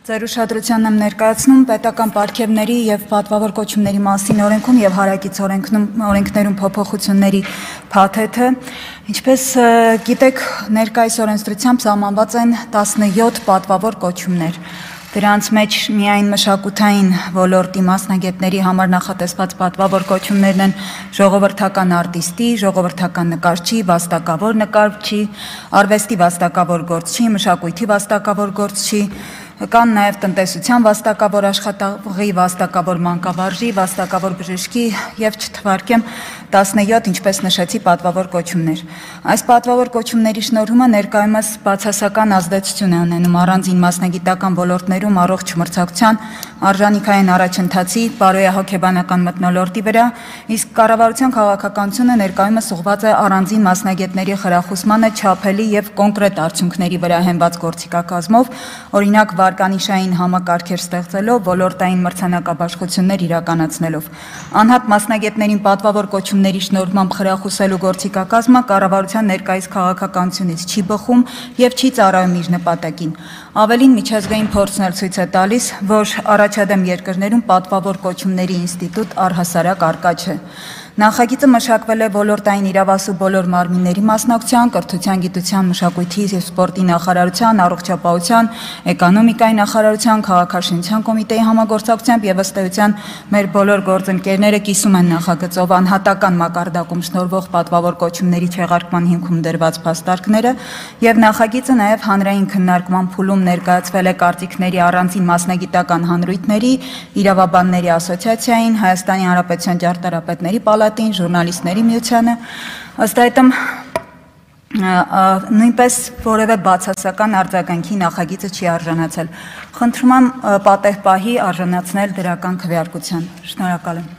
Ձեր ուշադրությանն եմ ներկայացնում պետական պարգևների եւ պատվավոր կոչումների մասին օրենքում եւ հարակից օրենքներում փոփոխությունների փաթեթը, ինչպես գիտեք, ներկայիս օրենսդրությամբ սահմանված են 17 պատվավոր կոչումներ։ Դրանց մեջ միայն մշակութային ոլորտի մասնագետների համար նախատեսված պատվավոր կոչումներն են ժողովրդական արտիստի, ժողովրդական նկարչի, վաստակավոր նկարչի, արվեստի վաստակավոր գործչի, մշակույթի վաստակավոր գործչի, կան նաև տնտեսության վաստակավոր աշխատողի, վաստակավոր մանկավարժի, վաստակավոր բժշկի եւ չթվարկեմ 17, ինչպես նշեցի, պատվավոր կոչումներ։ Այս պատվավոր կոչումների շնորհումը ներկայումս բացասական ազդեցություն է ունենում առանձին մասնագիտական ոլորտներում առողջ մրցակցության, արժանիքային առաջընթացի, բարոյահոգեբանական մթնոլորտի վրա, իսկ կառավարության քաղաքականությունը ներկայումս ուղղված է առանձին մասնագետների խրախուսմանը չափելի եւ կոնկրետ արդյունքների վրա հենված գործիքակազմով, օրինակ վարկանիշային համակարգեր ստեղծելով, ոլորտային մրցանակաբաշխություններ իրականացնելով։ Անհատ մասնագետներին պատվավոր կոչումների շնորհմամբ խրախուսելու գործիքակազմը կառավարության ներկայիս քաղաքականությունից չի բխում եւ չի ծառայում իր նպատակին։ Ավելին, միջազգային փորձն էլ ցույց է տալիս, որ առաջադեմ երկրներում պատվավոր կոչումների ինստիտուտ առհասարակ առկա չէ։ Նախագիծը մշակվել է ոլորտային իրավասու բոլոր մարմինների մասնակցության, կրթության, գիտության, մշակույթի եւ սպորտի նախարարության, առողջապահության, էկոնոմիկայի նախարարության, քաղաքաշինության կոմիտեի համագործակցությամբ եւ ըստ էության մեր բոլոր գործընկերները կիսում են նախագծով անհատական մակարդակում շնորհվող պատվավոր կոչումների չեղարկման հիմքում դրված փաստարկները եւ նախագիծը նաեւ հանրային քննարկման փուլում ներկայացվել է կարծիքների առանձին մասնագիտական հանրույթների, իրավաբանների ասոցիացիային, Հայաստանի Հանրապետության ճարտարապետների պալատին, ժուրնալիստների միությանը, ըստ այդմ նույնպես որևէ բացասական արձագանքի նախագիծը չի արժանացել։ Խնդրում եմ պատեհ պահի արժանացնել դրական քվեարկության։ Շնորհակալ եմ։